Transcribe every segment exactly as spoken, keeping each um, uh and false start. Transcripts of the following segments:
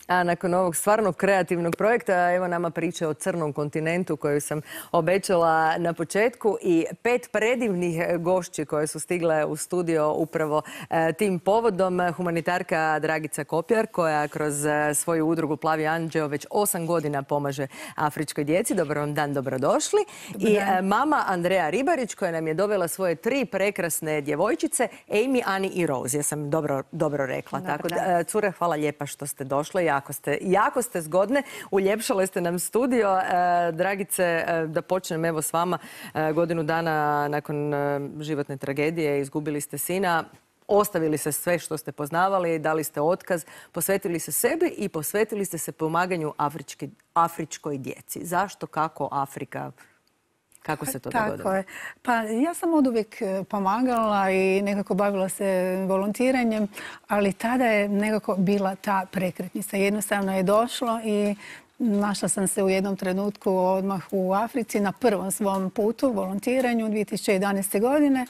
A nakon ovog stvarno kreativnog projekta, evo nama priče o crnom kontinentu koju sam obećala na početku i pet predivnih gošći koje su stigle u studio upravo e, tim povodom. Humanitarka Dragica Kopjar koja kroz e, svoju udrugu Plavi anđeo već osam godina pomaže afričkoj djeci. Dobar vam dan, dobrodošli. Dobar I dan. e, mama Andreja Ribarić koja nam je dovela svoje tri prekrasne djevojčice, Amy, Ani i Rose. Ja sam dobro, dobro rekla. Dobar Tako da, dan. e, cure, hvala lijepa što ste došle. Jako ste, jako ste zgodne, uljepšale ste nam studio. E, Dragice, e, da počnem evo s vama. E, godinu dana nakon e, životne tragedije izgubili ste sina. Ostavili ste sve što ste poznavali, dali ste otkaz, posvetili se sebi i posvetili ste se pomaganju afrički, afričkoj djeci. Zašto, kako Afrika? Kako se to dogodilo? Tako je. Pa ja sam od uvijek pomagala i nekako bavila se volontiranjem, ali tada je nekako bila ta prekretnica. Jednostavno je došlo i našla sam se u jednom trenutku odmah u Africi na prvom svom putu, volontiranju dvije tisuće jedanaeste. godine.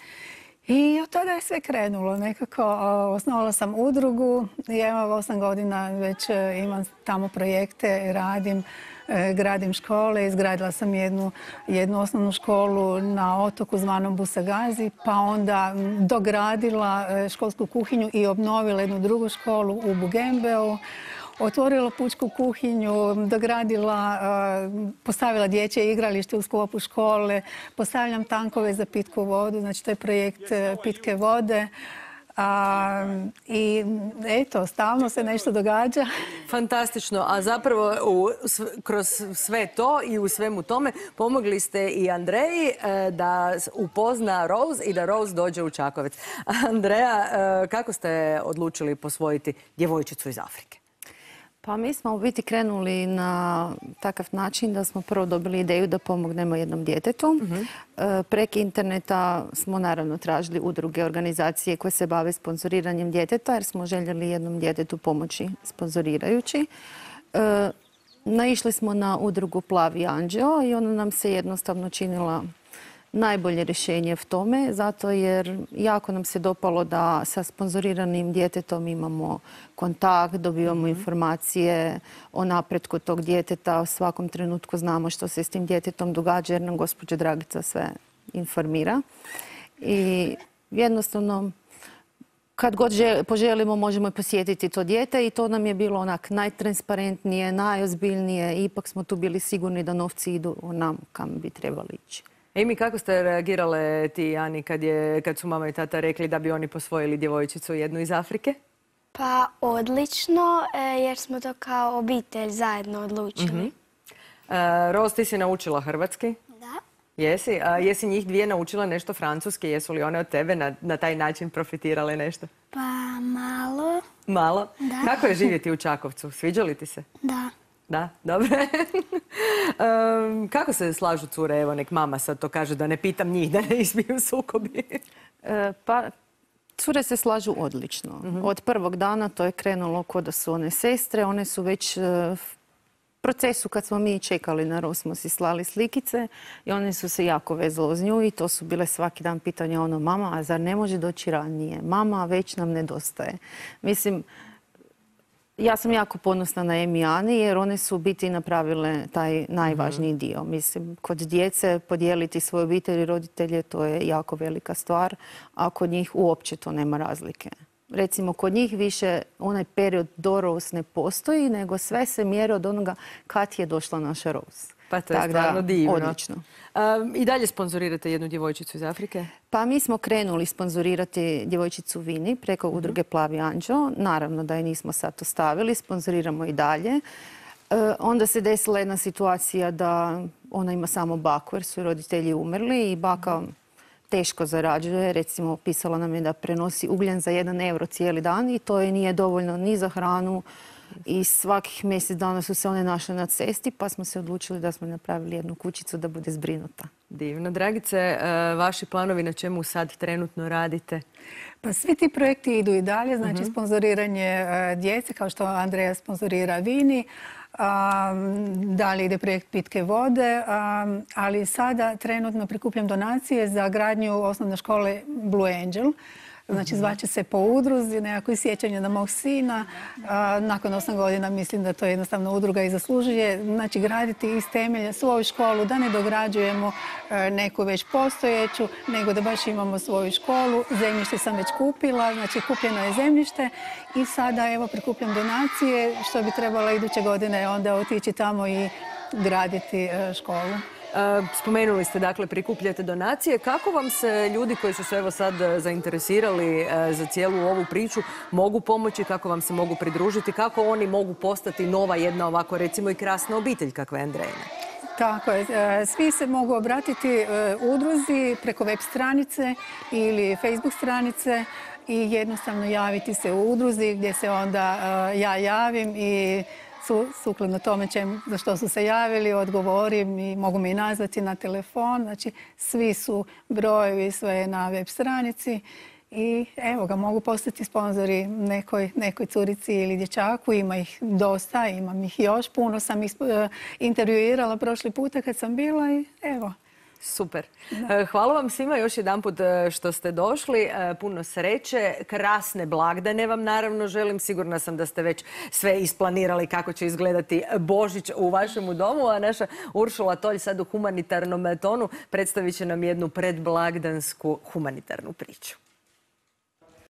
I od tada je sve krenulo. Nekako osnovala sam udrugu i evo osam godina već imam tamo projekte, radim, gradim škole. Izgradila sam jednu, jednu osnovnu školu na otoku zvanom Busagazi, pa onda dogradila školsku kuhinju i obnovila jednu drugu školu u Bugembeu. Otvorila pučku kuhinju, dogradila, postavila dječje igralište u sklopu škole, postavljam tankove za pitku vodu, znači to je projekt pitke vode. A, I eto, stalno se nešto događa. Fantastično, a zapravo u, kroz sve to i u svemu tome pomogli ste i Andreji e, da upozna Rose i da Rose dođe u Čakovec. Andreja, e, kako ste odlučili posvojiti djevojčicu iz Afrike? Pa mi smo u biti krenuli na takav način da smo prvo dobili ideju da pomognemo jednom djetetu. Uh-huh. E, preko interneta smo naravno tražili udruge, organizacije koje se bave sponzoriranjem djeteta jer smo željeli jednom djetetu pomoći sponzorirajući. E, naišli smo na udrugu Plavi anđeo i ona nam se jednostavno činila najbolje rješenje v tome, zato jer jako nam se dopalo da sa sponzoriranim djetetom imamo kontakt, dobivamo mm-hmm. informacije o napretku tog djeteta, u svakom trenutku znamo što se s tim djetetom događa jer nam gospođa Dragica sve informira. I jednostavno kad god poželimo možemo i posjetiti to dijete i to nam je bilo onak najtransparentnije, najozbiljnije. Ipak smo tu bili sigurni da novci idu nam kam bi trebali ići. Amy, kako ste reagirale ti i Ani kad, je, kad su mama i tata rekli da bi oni posvojili djevojčicu jednu iz Afrike? Pa odlično, jer smo to kao obitelj zajedno odlučili. Mm-hmm. uh, Rose, ti si naučila hrvatski? Da. Jesi? A jesi njih dvije naučila nešto francuski? Jesu li one od tebe na, na taj način profitirale nešto? Pa malo. Malo? Da. Kako je živjeti u Čakovcu? Sviđa li ti se? Da. Da, dobro. um, kako se slažu cure? Evo, nek mama sad to kaže da ne pitam njih, da ne izbiju sukobi. E, pa, cure se slažu odlično. Mm-hmm. Od prvog dana to je krenulo kod da su one sestre. One su već v procesu kad smo mi čekali na Rose smo si slali slikice i one su se jako vezale uz nju i to su bile svaki dan pitanja ono, mama, a zar ne može doći ranije? Mama, već nam nedostaje. Mislim, ja sam jako ponosna na Amy i Ani jer one su u biti napravile taj najvažniji dio. Mislim, kod djece podijeliti svoje obitelji i roditelje to je jako velika stvar, a kod njih uopće to nema razlike. Recimo, kod njih više onaj period do Rose ne postoji, nego sve se mjeri od onoga kad je došla naša Rose. Pa to je tak stvarno da, divno. Odlično. Um, I dalje sponzorirate jednu djevojčicu iz Afrike? Pa mi smo krenuli sponzorirati djevojčicu Vini preko mm-hmm. udruge Plavi anđeo. Naravno da je nismo sad ostavili, sponzoriramo i dalje. E, onda se desila jedna situacija da ona ima samo baku jer su roditelji umrli i baka mm-hmm. teško zarađuje. Recimo, pisala nam je da prenosi ugljen za jedan euro cijeli dan i to je nije dovoljno ni za hranu. I svakih mjesec dana su se one našle na cesti pa smo se odlučili da smo napravili jednu kućicu da bude zbrinuta. Divno. Dragice, vaši planovi na čemu sad trenutno radite? Pa svi ti projekti idu i dalje, znači uh-huh. sponzoriranje djece kao što Andreja sponzorira Vini. Um, dalje ide projekt pitke vode, um, ali sada trenutno prikupljam donacije za gradnju osnovne škole Blue Angel. Znači, zvaće se po udruzi, nekako sjećanje na mog sina. Nakon osam godina mislim da to jednostavno udruga i zaslužuje. Znači, graditi iz temelja svoju školu, da ne dograđujemo neku već postojeću, nego da baš imamo svoju školu. Zemljište sam već kupila, znači kupljeno je zemljište i sada evo prikupljam donacije, što bi trebala iduće godine onda otići tamo i graditi školu. Spomenuli ste, dakle, prikupljate donacije. Kako vam se ljudi koji su se evo sad zainteresirali za cijelu ovu priču mogu pomoći, kako vam se mogu pridružiti, kako oni mogu postati nova jedna ovako recimo i krasna obitelj kakva je Andrejina? Tako je. Svi se mogu obratiti udruzi preko web stranice ili Facebook stranice i jednostavno javiti se u udruzi gdje se onda ja javim i sukladno tome za što su se javili, odgovorim i mogu me i nazvati na telefon. Znači, svi su brojevi, sve je na web stranici i evo ga, mogu postati sponzori nekoj, nekoj curici ili dječaku. Ima ih dosta, imam ih još puno. Sam ih intervjuirala prošli puta kad sam bila i evo. Super. Da. Hvala vam svima još jedanput što ste došli. Puno sreće. Krasne blagdane vam naravno želim. Sigurna sam da ste već sve isplanirali kako će izgledati Božić u vašemu domu. A naša Uršula Tolj sad u humanitarnom tonu predstavit će nam jednu predblagdansku humanitarnu priču.